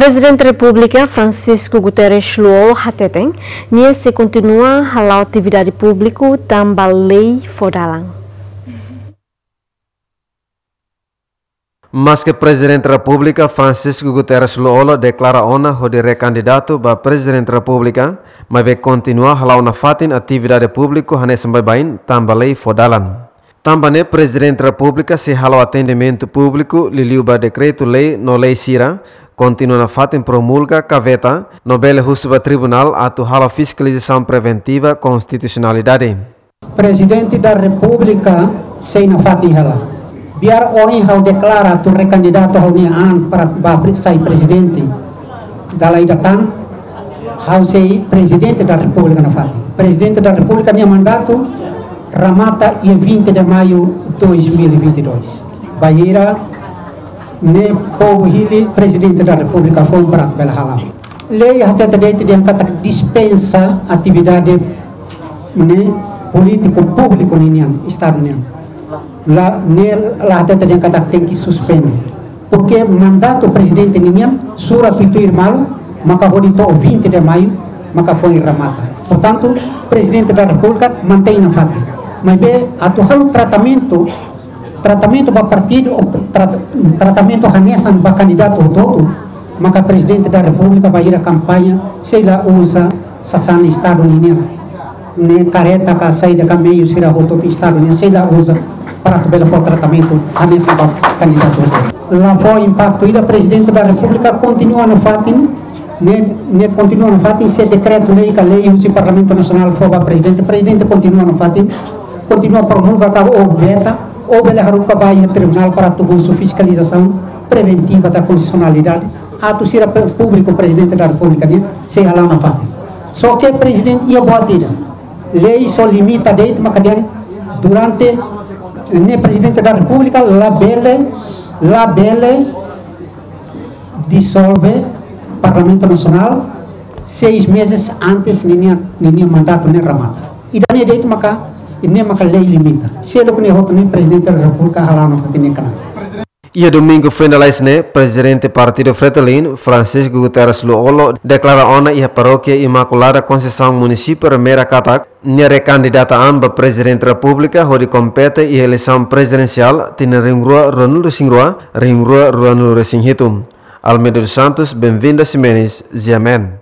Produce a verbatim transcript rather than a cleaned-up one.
Prezidente Repúblika Francisco Guterres Lú-Olo hateten, nia sei kontinua hala'o atividade públiku tanba lei fó dalan. Maske Prezidente Repúblika Francisco Guterres Lú-Olo deklara ona hodi rekandidatu ba Prezidente Repúblika, maibé kontinua hala'o nafatin atividade públiku hanesan baibain tanba lei fó dalan. Tanba ne'e Prezidente Repúblika sei hala'o atendimentu públiku liuliu ba dekretu-lei no lei sira, kontinua nafatin promulga ka veta, no bele husu ba tribunál atu hala'o fiskalizasaun preventiva konstitusionalidade. Prezidente da Repúblika sei nafatin hela. Biar ohin ha'u deklara atu rekandidatu ha'u-nia an para ba pre-, sai prezidente. Dala ida tan, ha'u sei Prezidente da Repúblika nafatin. Prezidente da Repúblika nia mandatu remata iha vinte de maio dois mil e vinte e dois. Bainhira ne'e povu hili Prezidente da Repúblika foun para bele hala'o. Lei hatete de'it dehan katak dispensa atividade ne'e polítiku públiku ninian, Estadu nian. La, ne'e la hatete dehan katak tenke suspende. Porke mandatu prezidente ninian, sura tuir malu, maka hodi to'o vinte de maio, maka foin remata. Portantu, Prezidente da Repúblika mantein nafatin. Maibé, atu halo tratamentu, tratamentu ba partidu, ou tra-, tratamentu hanesan ba kandidatu hotu-hotu, maka Prezidente da Repúblika bainhira kampaña, sei la uza sasán Estadu ninian. Ne'e kareta ka saida ka meiu sira hotu-hotu Estadu nian, sei la uza para atu bele fó tratamentu hanesan ba kandidatu hotu-hotu. La fó impaktu ida, Prezidente da Repúblika kontinua nafatin, ne'e, ne'e kontinua nafatin, se dekretu-lei ka lei husi Parlamentu Nasionál fó ba Prezidente, Prezidente kontinua nafatin, kontinua promulga ka ou veta, ou bele haruka ba iha tribunál para atu husu fiskalizasaun preventiva da konstitusionalidade, atu sira pe-, públiku Prezidente da Repúblika nian sei hala'o nafatin. Só ke Prezidente iha buat ida. Lei só limita de'it maka dehan durante ne'e Prezidente da Repúblika labele, labele disolve Parlamentu Nasionál seis meses antes ninia, ninia mandatu ne'e remata. Ida-ne'e de'it maka, ne'e maka lei limita. Seluk ne'e hotu ne'e Prezidente da Repúblika hala'o nafatin ne'e knaar. Iha domingu foin lalais ne'e, Prezidente Partidu Fretilin, Francisco Guterres Lú-Olo, deklara ona iha Parókia Imakulada Konseisaun, Munisípiu Ermera katak, nia rekandidata an ba Prezidente Repúblika hodi kompete iha eleisaun prezidensiál tinan rihun rua ruanulu-resin-rua, rihun rua ruanulu-resin-hitu. Almeida dos Santos, Benvinda Ximenes, G M N.